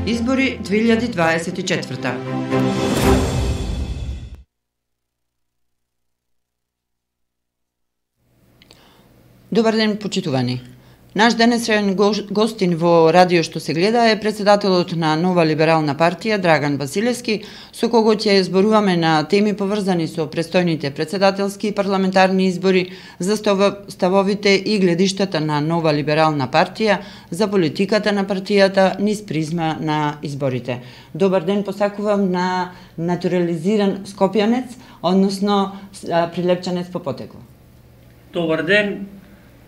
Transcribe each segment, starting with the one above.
Избори 2024. Добар ден, почитувани. Наш денесен гостин во радио што се гледа е председателот на Нова либерална партија Драган Василевски, со кого ќе зборуваме на теми поврзани со престојните председателски и парламентарни избори, за ставовите и гледиштата на Нова либерална партија, за политиката на партијата низ призма на изборите. Добар ден посакувам на натурализиран скопјанец, односно прилепчанец по потекло. Добар ден.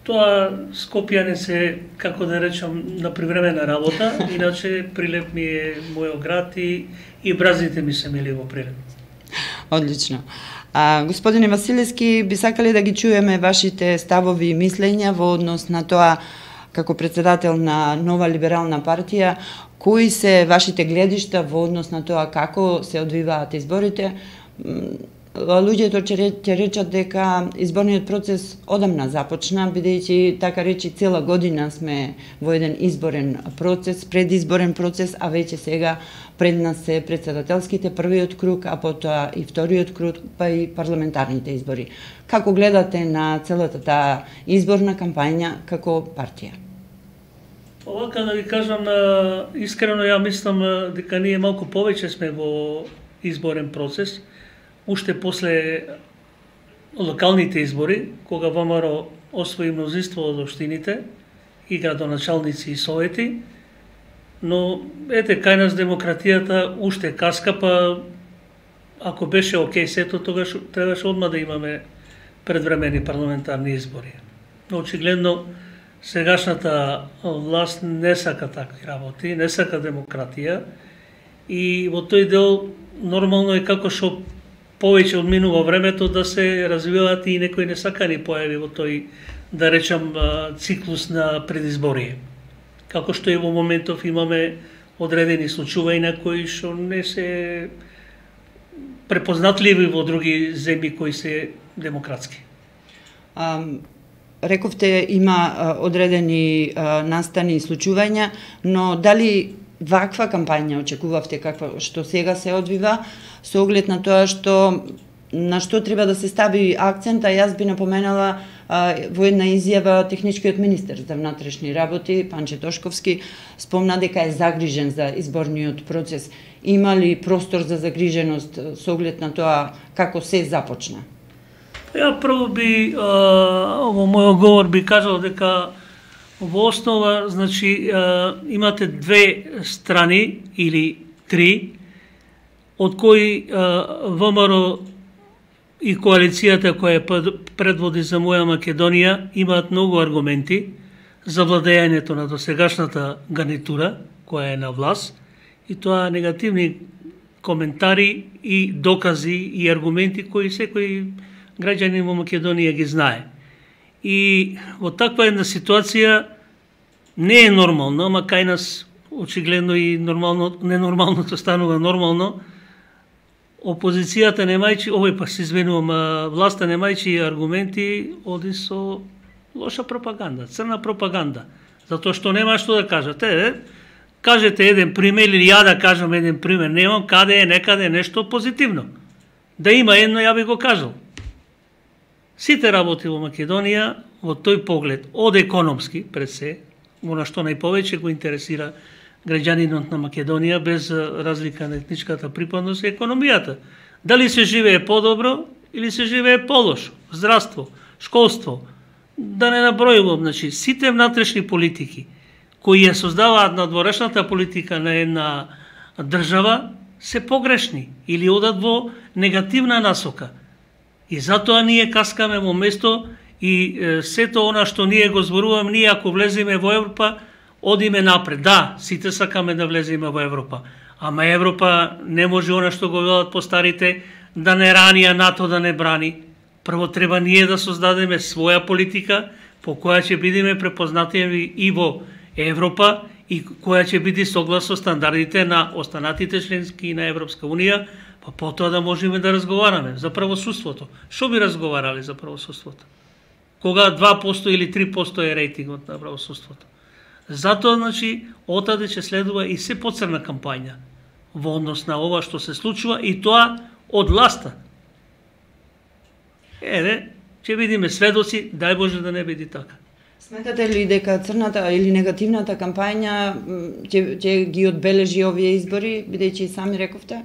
Тоа Скопјанец е, како да речам, на привремена работа, иначе Прилеп ми е мојот град и бразите ми се мили во Прилеп. Одлично. Господине Василевски, би сакали да ги чуеме вашите ставови и мислења во однос на тоа, како председател на Нова либерална партија, кои се вашите гледишта во однос на тоа како се одвиваат изборите. Луѓето ќе речат дека изборниот процес одамна започна, бидејќи така речи цела година сме во еден изборен процес, предизборен процес, а веќе сега пред нас се председателските првиот круг, а потоа и вториот круг, па и парламентарните избори. Како гледате на целата таа изборна кампања како партија? Овака да ви кажам, искрено ја мислам дека ние малку повеќе сме во изборен процес, уште после локалните избори, кога ВМРО освои мнозинство од општините и градоначалници и совети, но ете кај нас демократијата уште каска, па ако беше окей сето, тогаш требаше одма да имаме предвремени парламентарни избори. Но очигледно сегашната власт не сака такви работи, не сака демократија и во тој дел нормално е како што повеќе одминува времето да се развиваат и некои несакани појави во тој, да речам, циклус на предизборие. Како што и во моментов имаме одредени случувања кои што не се препознатливи во други земји кои се демократски. Рековте има одредени настани и случувања, но дали ваква кампања очекувавте каква што сега се одвива, со оглед на тоа на што треба да се стави акцент, а јас би напоменала во една изјава техничкиот министер за внатрешни работи, Панче Тошковски, спомна дека е загрижен за изборниот процес. Има ли простор за загриженост со оглед на тоа како се започна? Ја прво би, во мојот говор би кажал дека во основа, значи, имате две страни или три, од кои ВМРО и коалицијата која предводи за Моја Македонија имаат многу аргументи за владењето на досегашната гарнитура која е на власт, и тоа негативни коментари и докази и аргументи кои секој граѓанин во Македонија ги знае. И во таква една ситуација не е нормално, ама кај нас очигледно и нормално, ненормалното станува нормално. Опозицијата немајќи, се извинувам, власта немајќи аргументи, оди со лоша пропаганда, црна пропаганда, затоа што нема што да кажете. Кажете еден пример или ја да кажам еден пример, немам каде е некаде нешто позитивно. Да има едно, ја би го кажал. Сите работи во Македонија во тој поглед, од економски пред се, она што најповеќе го интересира граѓанинот на Македонија, без разлика на етничката припадност, е економијата. Дали се живее подобро или се живее полошо? Здравство, школство, да не набројувам, значи сите внатрешни политики кои ја создаваат надворешната политика на една држава се погрешни или одат во негативна насока. И затоа ние каскаме во место и сето она што ние го зборуваме, ние ако влеземе во Европа, одиме напред. Да, сите сакаме да влеземе во Европа, ама Европа не може она што го велат постарите, да не рани, а НАТО да не брани. Прво треба ние да создадеме своја политика по која ќе бидеме препознати и во Европа и која ќе биде согласно стандардите на останатите членски на Европска Унија, па потоа да можеме да разговараме за правосудството. Што би разговарале за правосудството? кога 2% или 3% е рейтингот на правосудството. Затоа, значи, отаде ќе следува и се поцрна кампања во однос на ова што се случува и тоа од власта. Ќе видиме сведоци, дај Боже да не биде така. Сметате ли дека црната или негативната кампања ќе ги одбележи овие избори, бидејќи сами рековте?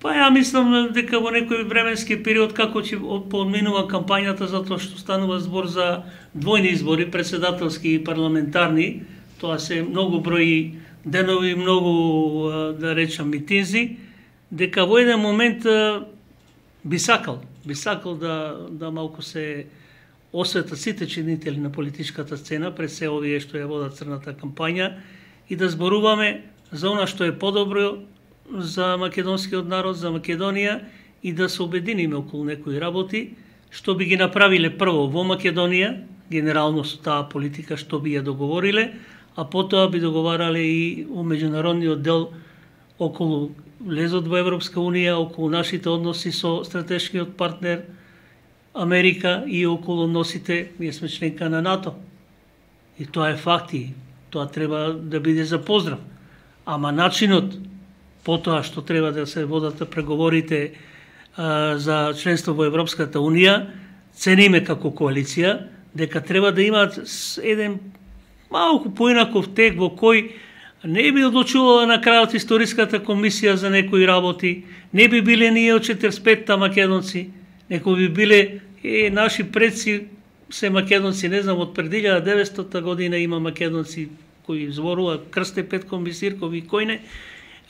Па ја мислам дека во некој временски период како ќе поминува кампањата, затоа што станува збор за двојни избори, председателски и парламентарни, тоа се многу брои денови, многу, да речам, митинзи, дека во еден момент би сакал да малку се осветат сите чинители на политичката сцена, пред се овие што ја водат црната кампања, и да зборуваме за она што е подобро за македонскиот народ, за Македонија, и да се обединиме околу некои работи, што би ги направиле прво во Македонија, генерално со таа политика што би ја договориле, а потоа би договарале и у меѓународниот дел околу влезот во Европска Унија, околу нашите односи со стратешкиот партнер Америка и околу односите, ние сме членка на НАТО. И тоа е факт и тоа треба да биде за поздрав. Ама начинот потоа што треба да се водат преговорите за членство во Европската Унија, цениме како коалиција, дека треба да имаат еден малку поинаков тек во кој не би одлучувала на крајот историската комисија за некои работи, не би биле ние од 45-та македонци, неко би биле наши предци се македонци, не знам, од пред 1900 година има македонци кои зборуваат Крсте Петков, Бисирков и кој не.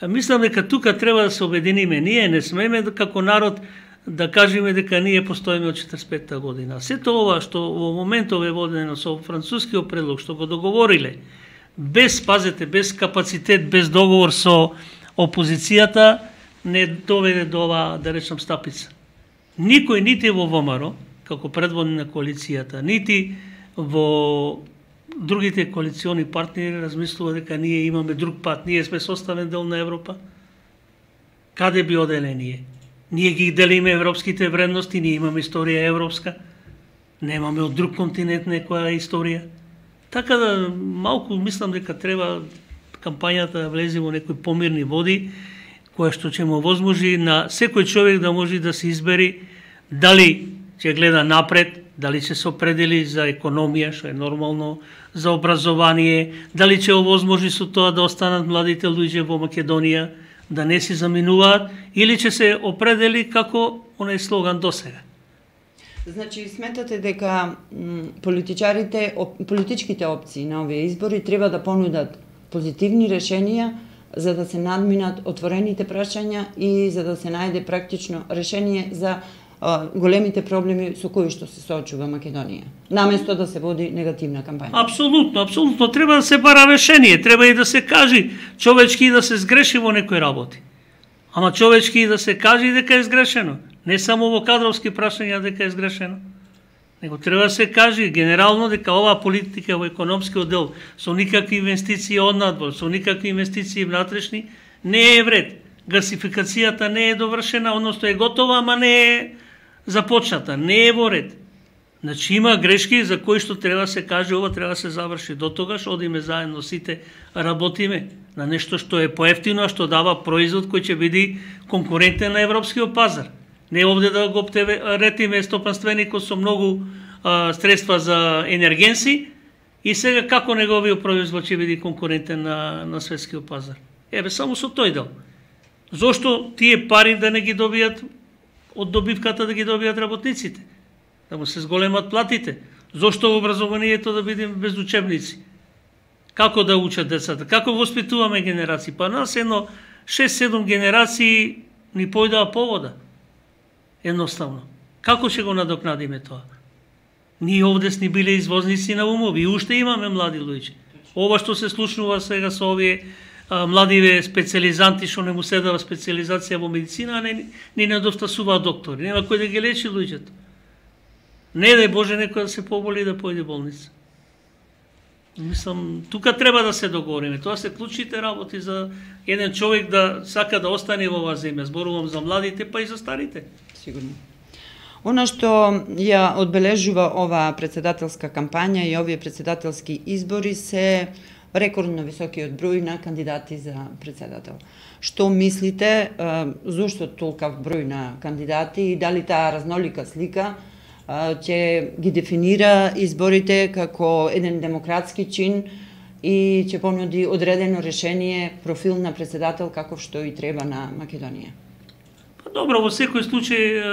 Мислам дека тука треба да се обединиме. Ние не смееме како народ да кажеме дека ние постоиме од 45-та година. Сето ова што во моментов е водено со францускиот предлог, што го договориле, без, пазете, без капацитет, без договор со опозицијата, не доведе до ова, да речам, стапица. Никој, нити во ВМРО, како предводник на коалицијата, нити во другите коалициони партнери размислува дека ние имаме друг пат, ние сме составен дел на Европа. Каде би оделе ние? Ние ги делиме европските вредности, ние имаме историја европска, немаме од друг континент некоја историја. Така да малку мислам дека треба кампањата да влезе во некои помирни води, која што ќе му возможи на секој човек да може да се избери дали ќе гледа напред, дали ќе се определи за економија, што е нормално, за образование, дали ќе овозможи со тоа да останат младите луѓе во Македонија, да не си заминуваат, или ќе се определи како онај слоган досега. Значи, сметате дека политичките опции на овие избори треба да понудат позитивни решенија за да се надминат отворените прашања и за да се најде практично решение за големите проблеми со кои што се соочува Македонија, наместо да се води негативна кампања. Апсолутно, апсолутно. Треба да се бара решение, треба и да се кажи човечки да се сгреши во некои работи. Ама човечки да се кажи дека е сгрешено. Не само во кадровски прашања дека е сгрешено. Него треба да се кажи генерално дека оваа политика во економскиот дел со никакви инвестиции однадвор, со никакви инвестиции внатрешни, не е вред. Гасификацијата не е довршена, односно е готова, ама не е започната, не е во ред. Значи има грешки за кои што треба да се каже, ова треба да се заврши. До тогаш одиме заедно сите, работиме на нешто што е поевтино, што дава производ кој ќе биде конкурентен на европскиот пазар. Не овде да го ретиме стопанственикот со многу средства за енергенси и сега како неговиот производ ќе биде конкурентен на светскиот пазар. Еве само со тој дел. Зошто тие пари да не ги добијат од добивката да ги добијат работниците? Да му се зголемат платите. Зошто образованието да биде без учебници? Како да учат децата? Како воспитуваме генерации? Па нас едно 6-7 генерации ни појдаа повода. Едноставно. Како ќе го надокнадиме тоа? Ние овде сни биле извозници на умови и уште имаме млади луѓе. Ова што се случнува сега со овие младиве специализанти што не му седава специализација во медицина, а не недостасуваат доктори. Нема кој да ги лечи луѓето. Не дај Боже некој да се поболи и да појде болница. Мислам, тука треба да се договориме. Тоа се клучните работи за еден човек да сака да остане во оваа земја. Зборувам за младите, па и за старите. Сигурно. Она што ја одбележува оваа председателска кампања и овие председателски избори се рекордно високиот број на кандидати за председател. Што мислите, зошто толков број на кандидати и дали таа разнолика слика ќе ги дефинира изборите како еден демократски чин и ќе понуди одредено решение, профил на председател каков што и треба на Македонија? Добро, во секој случај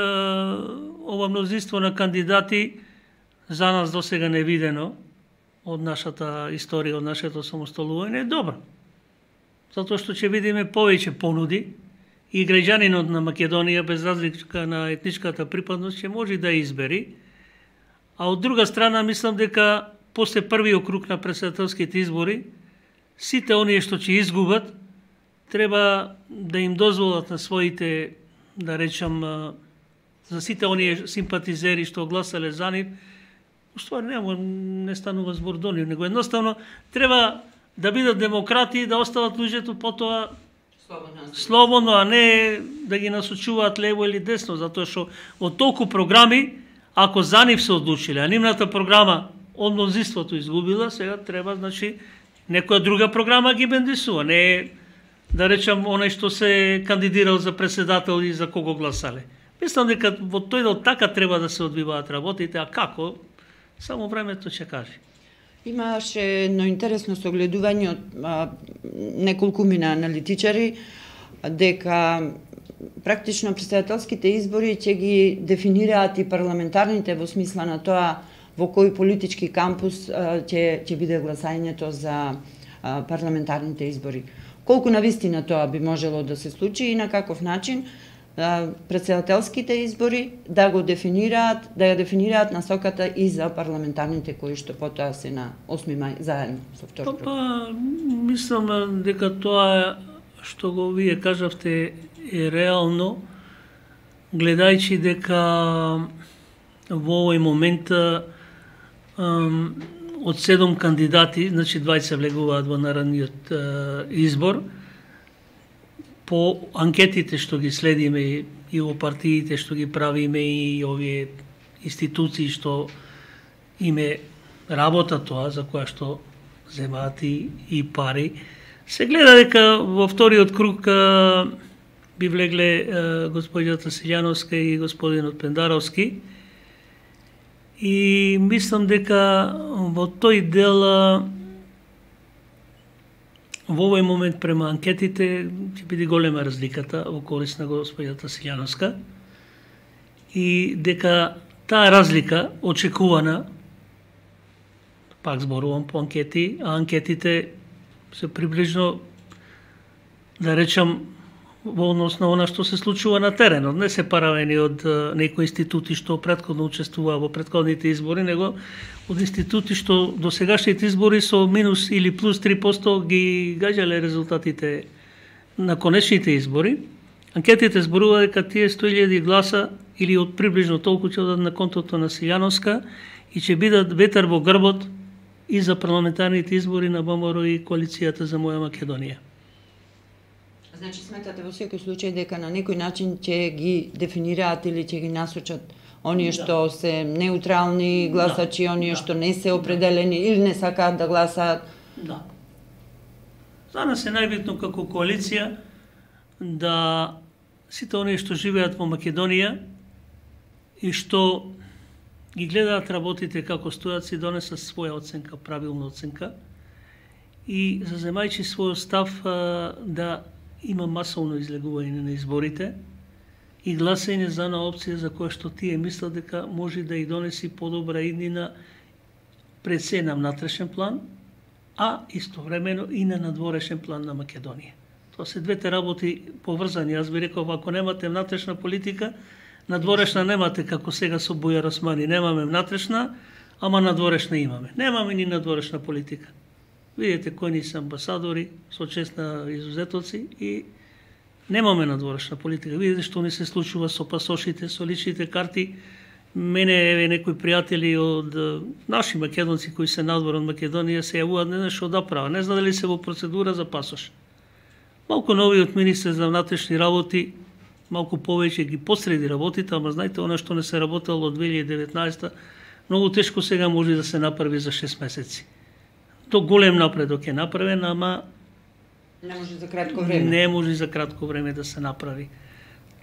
ова мнозинство на кандидати за нас досега невидено од нашата историја, од нашето самосталување е добро. Затоа што ќе видиме повеќе понуди и граѓанинот на Македонија без разлика на етничката припадност ќе може да избери. А од друга страна мислам дека после првиот круг на председателските избори сите оние што ќе изгубат треба да им дозволат на своите, да речам, за сите оние симпатизери што гласале за нив, уствари не станува збор до нив, него едноставно треба да бидат демократи и да остават луѓето потоа слободно, а не да ги насочуваат лево или десно, затоа што од толку програми, ако за нив се одлучиле, а нивната програма од мнозинството изгубила, сега треба, значи, некоја друга програма ги бендисува, не да речам оној што се кандидирал за председател и за кого гласале. Мислам дека во тој дел така треба да се одвиваат работите, а како? Само времето ќе каже. Имаше едно интересно согледување од неколкумина аналитичари дека практично председателските избори ќе ги дефинираат и парламентарните во смисла на тоа во кој политички кампус ќе биде гласањето за парламентарните избори. Колку навистина тоа би можело да се случи и на каков начин председателските избори да го дефинираат, да ја дефинираат насоката и за парламентарните кои што потоа се на 8 мај заедно со втор круг. Мислам дека тоа што го вие кажавте е реално, гледајќи дека во овој момент од 7 кандидати, значи 20 влегуваат во наредниот избор. По анкетите што ги следиме и во партиите што ги правиме и овие институции што име работа тоа за која што земаат и пари, се гледа дека во вториот круг би влегле господината Силјановска и господинот Пендаровски. И мислам дека во тој дел во овој момент према анкетите ќе биде голема разликата во корист на господината Силјановска и дека таа разлика очекувана, пак зборувам по анкети, а анкетите се приближно, да речам, во однос на она што се случува на теренот, не се паравени од некои институти што претходно учествуваа во претходните избори, него од институти што до сегашните избори со минус или плюс 3% ги гаѓале резултатите на конечните избори. Анкетите зборува дека тие 100.000 гласа или од приближно толку ќе одат на контото на Силјановска и ќе бидат ветер во грбот и за парламентарните избори на ВМРО и коалицијата за Моја Македонија. Значи сметате во секој случај дека на некој начин ќе ги дефинираат или ќе ги насочат оние што се неутрални гласачи, оние што не се определени или не сакаат да гласаат? Да. За нас е најбитно како коалиција да сите оние што живеат во Македонија и што ги гледаат работите како стојат, си донесат своја оценка, правилна оценка и заземајќи својот став да има масовно излегување на изборите и гласање за една опција за која што тие мислат дека може да и донеси подобра иднина пред се на внатрешен план, а истовремено и на надворешен план на Македонија. Тоа се двете работи поврзани. Јас би рекол, ако немате внатрешна политика, надворешна немате, како сега со Бујар Османи. Немаме внатрешна, ама надворешна имаме. Немаме ни надворешна политика. Видите кои ни се амбасадори, со чест на изузетоци и немаме надворешна политика. Видите што ни се случува со пасошите, со личните карти. Мене еве некои пријатели од наши македонци кои се надвор од Македонија се јавуваат не знае што да прават. Не знае дали се во процедура за пасош. Малку новиот министер за внатрешни работи малку повеќе ги посреди работите, ама знаете, она што не се работело од 2019, многу тешко сега може да се направи за 6 месеци. То голем напредок е направен, ама не може за кратко време. Не може за кратко време да се направи.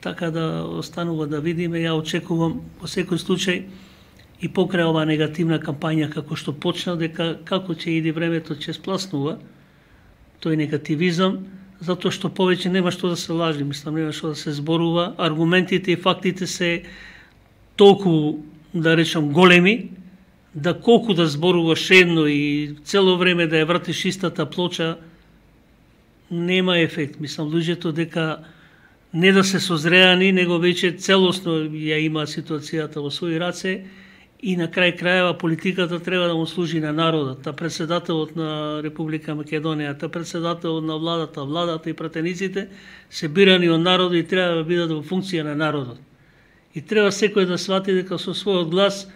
Така да останува да видиме, ја очекувам во секој случај и покрај оваа негативна кампања како што почна, дека како ќе иде времето ќе спласнува тој негативизам, затоа што повеќе нема што да се лажи, мислам, нема што да се зборува, аргументите и фактите се толку, да речам, големи, да колку да зборуваш едно и цело време да ја вратиш истата плоча, нема ефект. Мислам, луѓето дека не да се созреани, него веќе целосно ја има ситуацијата во своји раце и на крај крајева политиката треба да му служи на народот. Та председателот на Република Македонија, та председателот на владата и пратениците се бирани од народот и треба да бидат во функција на народот. И треба секој да свати дека со својот глас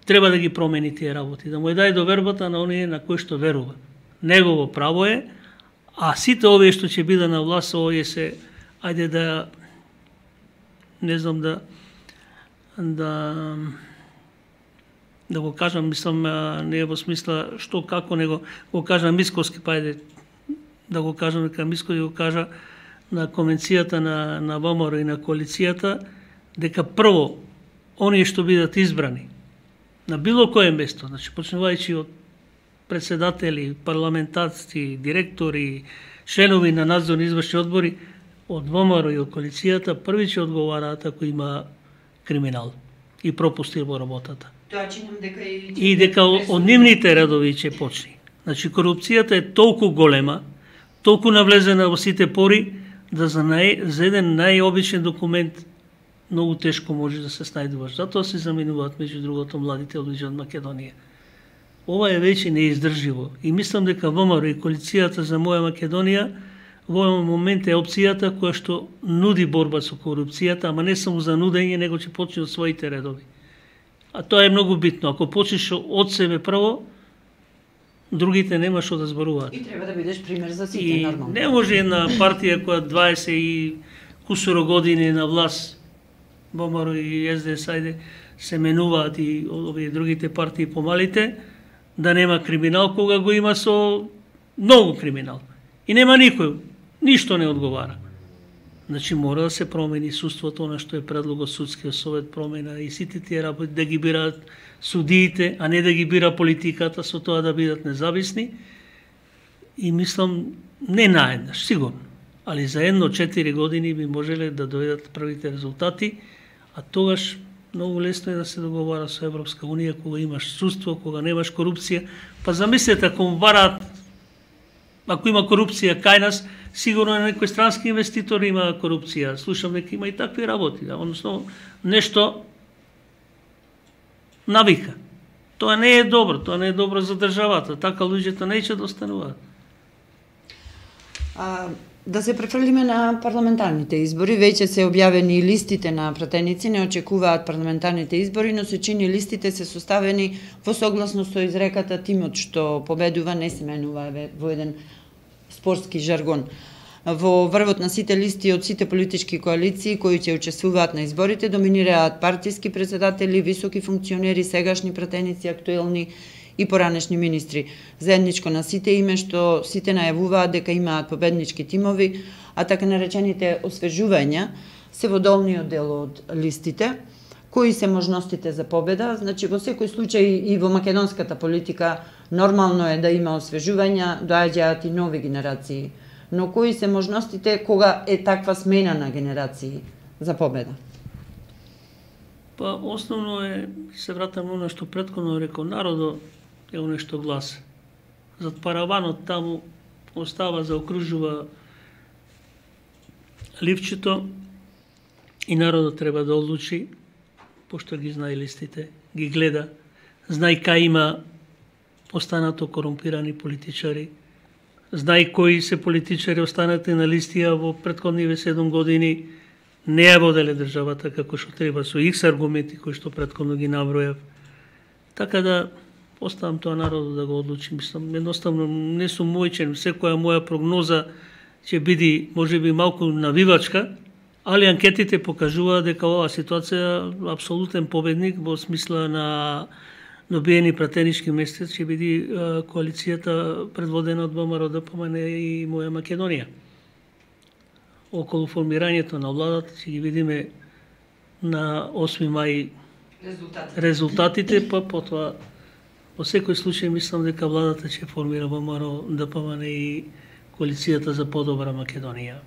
треба да ги промени тие работи, да му ја даде довербата на оние на кои што верува. Негово право е, а сите овие што ќе бидат на власт, овие се, ајде да, не знам да го кажам, мислам, не во смисла што како, него го кажам мисковски, па ајде да го кажам дека мисковски го кажа на конвенцијата на ВМРО и на коалицијата, дека прво, оние што бидат избрани на било кое место, значи почнувајќи од председатели, парламентарци, директори, членови на надзорни извршни одбори, од ВМРО и од коалицијата, први ќе одговараат ако има криминал и пропусти во работата. Тоа чинам дека и дека од нивните редови ќе почне. Значи корупцијата е толку голема, толку навлезена во сите пори, да за еден најобичен документ многу тешко може да се снајдуваш. Затоа се заменуваат меѓу другото младите луѓе од Македонија. Ова е веќе неиздрживо и мислам дека ВМРО и коалицијата за Моја Македонија во овој момент е опцијата која што нуди борба со корупцијата, ама не само за нудење, него ќе почне од своите редови. А тоа е многу битно. Ако почнеш од себе прво, другите нема што да зборуваат. И треба да бидеш пример за сите, нормално. Не може една партија која 20 и кусуро години на власт, ВМРО и СДС, ајде, се менуваат и овие другите партии помалите, да нема криминал, кога го има со многу криминал. И нема никој, ништо не одговара. Значи мора да се промени суството, на што е предлогот судскиот совет промена и сите тие работи да ги бираат судиите, а не да ги бира политиката, со тоа да бидат независни. И мислам, не наеднаш, сигурно, али за 1-4 години би можеле да дојдат првите резултати, а тогаш многу лесно е да се договара со Европска Унија кога имаш судство, кога немаш корупција. Па замислете, ако има корупција кај нас, сигурно на некој странски инвеститор има корупција. Слушам дека има и такви работи, односно нешто навика. Тоа не е добро, тоа не е добро за државата, така луѓето неќе да остануваат. Да се префрлиме на парламентарните избори, веќе се објавени листите на пратеници, не очекуваат парламентарните избори, но се чини листите се составени во согласност со изреката тимот што победува не се менува во еден спортски жаргон. Во врвот на сите листи од сите политички коалиции кои ќе учествуваат на изборите доминираат партиски председатели, високи функционери, сегашни пратеници, актуелни и поранешни министри. Заедничко на сите име што сите најавуваат дека имаат победнички тимови, а така наречените освежувања се во долниот дел од листите. Кои се можностите за победа? Значи, во секој случај и во македонската политика нормално е да има освежувања, доаѓаат и нови генерации. Но кои се можностите кога е таква смена на генерации за победа? Па, основно е, се вратам на оно што претходно рекол, народо е оно што гласа. Зад параванот таму остава, заокружува ливчето и народот треба да одлучи, пошто ги знае листите, ги гледа, знае кај има останато корумпирани политичари, знае кои се политичари останати на листија во претходниве 7 години, не ја воделе државата како што треба, со икс аргументи кои што претходно ги набројав. Така да оставам тоа народот да го одлучи. Мислам, едноставно не сум мојчен, секоја моја прогноза ќе биде можеби малку навивачка, али анкетите покажуваат дека оваа ситуација апсолутен победник во смисла на добиени пратенички места ќе биде коалицијата предводена од ВМРО, ДПМН и Моја Македонија. Околу формирањето на владата ќе ги видиме на 8 мај резултатите, па потоа во секој случај мислам дека владата ќе формира ВМРО, ДПМН и коалицијата за подобра Македонија.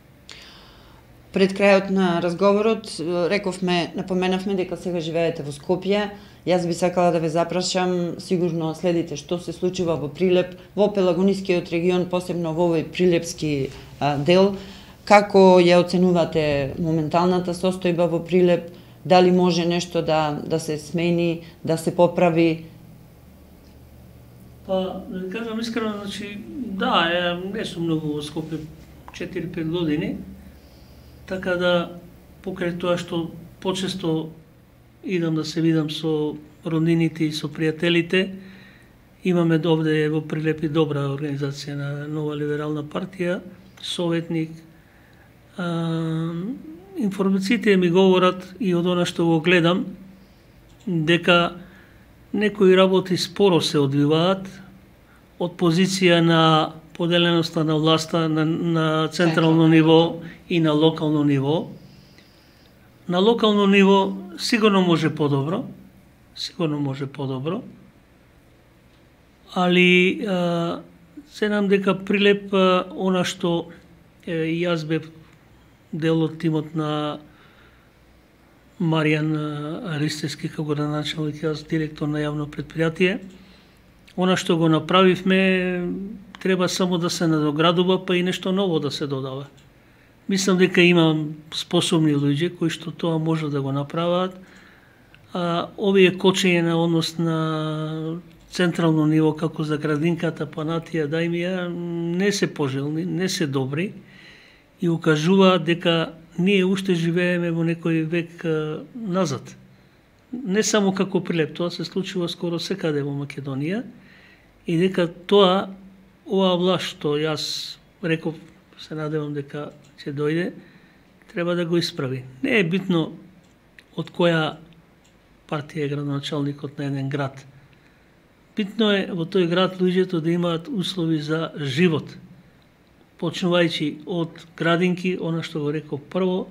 Пред крајот на разговорот напоменавме дека сега живеете во Скопје. Јас би сакала да ве запрашам, сигурно следите што се случува во Прилеп, во Пелагонискиот регион, посебно во овој прилепски дел. Како ја оценувате моменталната состојба во Прилеп? Дали може нешто да се смени, да се поправи? Па, да кажам искрено, значи, да, не сум многу во Скопје 4-5 години, така да покрај тоа што почесто идам да се видам со роднините и со пријателите, имаме овде во Прилеп и добра организација на Нова либерална партија, советник. Информациите ми говорат и од она што го гледам дека некои работи споро се одвиваат од позиција на поделеноста на власта на централно ниво и на локално ниво. На локално ниво сигурно може подобро, али се нам дека Прилеп она што јас бев дел од тимот на Маријан Ристевски како градоначалник, јас директор на јавно предпријатие. Она што го направивме треба само да се надоградува, па и нешто ново да се додава. Мислам дека има способни луѓе кои што тоа може да го направат. Овие кочење на однос на централно ниво како за градинката, Панатија, Дајмија не се пожелни, не се добри и укажува дека ние уште живееме во некој век назад. Не само како Прилеп, тоа се случува скоро секаде во Македонија и дека тоа, оваа власт што јас реков, се надевам дека ќе дојде, треба да го исправи. Не е битно од која партија е градоначалникот на еден град. Битно е во тој град луѓето да имаат услови за живот, почнувајќи од градинки, она што го реков прво,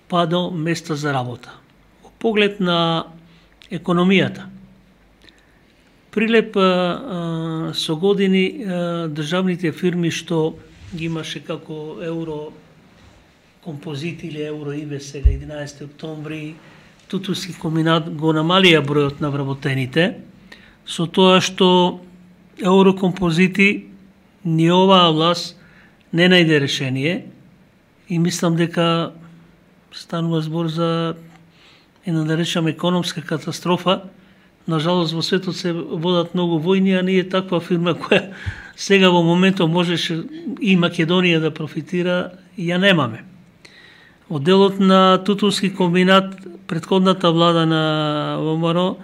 па до места за работа. Во поглед на економијата, Прилеп со години државните фирми што ги имаше како Еврокомпозит или Евроибе сега 11 октомври, Тутунски комбинат го намалија бројот на вработените, со тоа што Еврокомпозити ни оваа власт не најде решение и мислам дека станува збор за една да речам економска катастрофа. Нажалост во светот се водат многу војни, а ние таква фирма која сега во моментот можеше и Македонија да профитира, ја немаме. Од делот на Тутунски комбинат, претходната влада на ВМРО,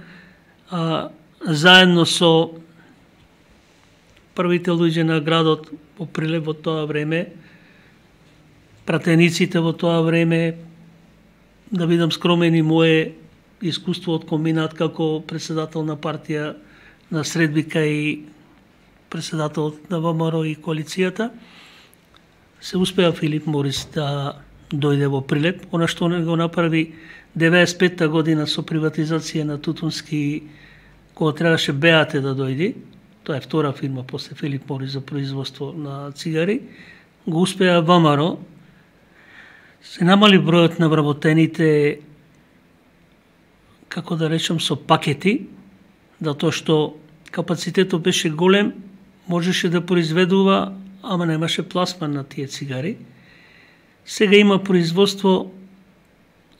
заедно со првите луѓе на градот во Прилеп во тоа време, пратениците во тоа време, да бидам скромен и мое искуство од комбинат како председател на партија на средбика и председател на ВМРО и коалицијата, се успеа Филип Морис да дојде во Прилеп. Она што не го направи 95-та година со приватизација на Тутунски, кога требаше БАТ да дојде, тоа е втора фирма после Филип Морис за производство на цигари, го успеа ВМРО. Се намали бројот на вработените, како да речем, со пакети, затоа што капацитетот беше голем, можеше да произведува, ама немаше пласман на тие цигари. Сега има производство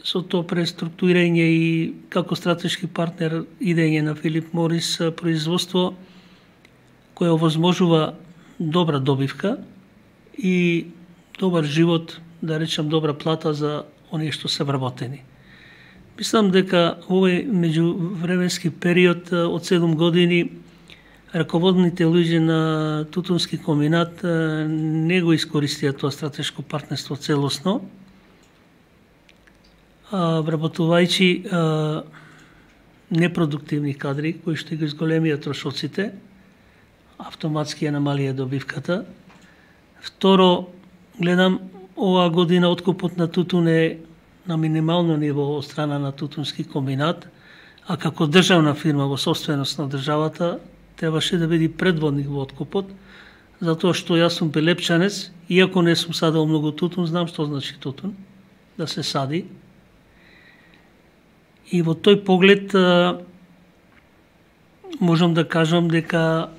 со тоа преструктурирање и како стратешки партнер идење на Филип Морис производство кој овозможува добра добивка и добар живот, да речем добра плата за оние што се вработени. Мислам дека овој меѓувременски период од 7 години раководните луѓе на Тутунски комбинат не го искористија тоа стратешко партнерство целосно вработувајќи непродуктивни кадри кои што ги зголемија трошоците, автоматски ја намалија добивката. Второ, гледам оваа година откупот на тутун е на минимално ниво од страна на тутунски комбинат, а како државна фирма во собственост на државата требаше да биде предводник во откупот, затоа што јас сум пелепчанец, иако не сум садал многу тутун, знам што значи тутун, да се сади. И во тој поглед можам да кажам дека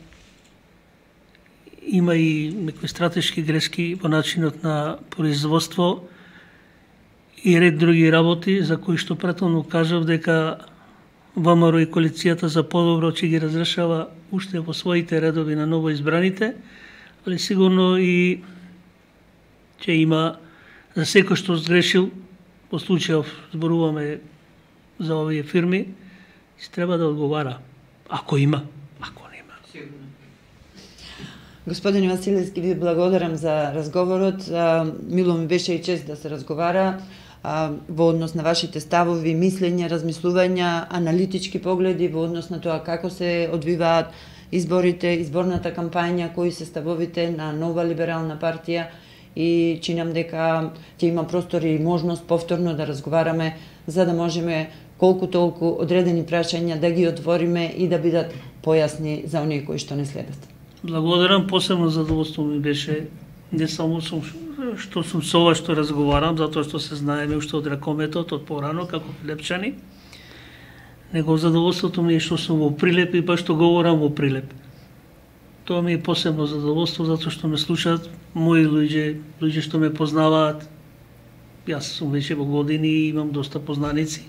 има и некои стратешки грешки во начинот на производство и ред други работи за кои што претhodно кажав дека ВМРО и коалицијата за подобро ќе ги разрешава уште во своите редови на ново избраните, али сигурно и ќе има за секој што сгрешил, по случајов зборуваме за овие фирми, се треба да одговара, ако има, ако нема. Господин Василевски, ви благодарам за разговорот. Мило ми беше и чест да се разговара во однос на вашите ставови, мислења, размислувања, аналитички погледи во однос на тоа како се одвиваат изборите, изборната кампања, кои се ставовите на нова либерална партија, и чинам дека ќе има простор и можност повторно да разговараме за да можеме колку толку одредени прашања да ги отвориме и да бидат појасни за оние кои што не следат. Благодарам, посебно задоволство ми беше не само што сум со ова што разговарам, затоа што се знаеме уште од ракометот, од порано, како Прилепчани, него задоволството ми е што сум во Прилеп и баш што говорам во Прилеп. Тоа ми е посебно задоволство, затоа што ме слушаат мои луѓе што ме познаваат. Јас сум веќе во години и имам доста познаници.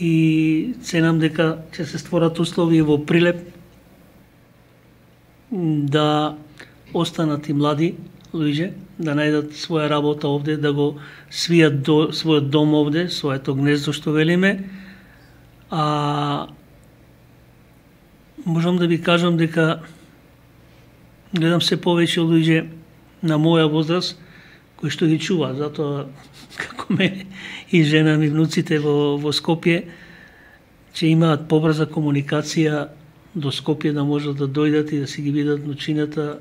И ценам дека ќе се створат услови во Прилеп да останат и млади луѓе, да најдат своја работа овде, да го свијат својот дом овде, своето гнездо што велиме. Можам да ви кажам дека гледам се повеќе луѓе на моја возраст кои што ги чуваат, затоа како мене и жена ми, внуците во Скопје, ќе имаат побрза комуникација до Скопје, да можат да дојдат и да си ги видат внучината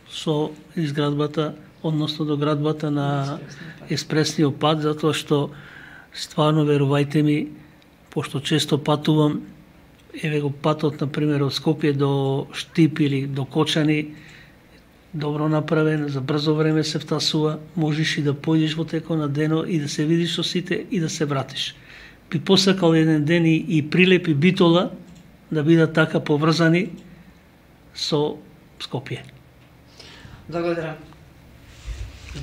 со изградбата, односно до градбата на експресниот пат, затоа што стварно, верувајте ми, пошто често патувам, еве го патот, например, од Скопје до Штип или до Кочани, добро направен, за брзо време се втасува, можеш и да појдеш во текот на дено и да се видиш со сите и да се вратиш. Би посакал еден ден и Прилеп и Битола да бидат така поврзани со Скопје. Благодарам.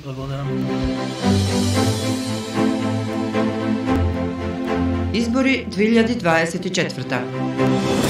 Благодарам. Избори 2024.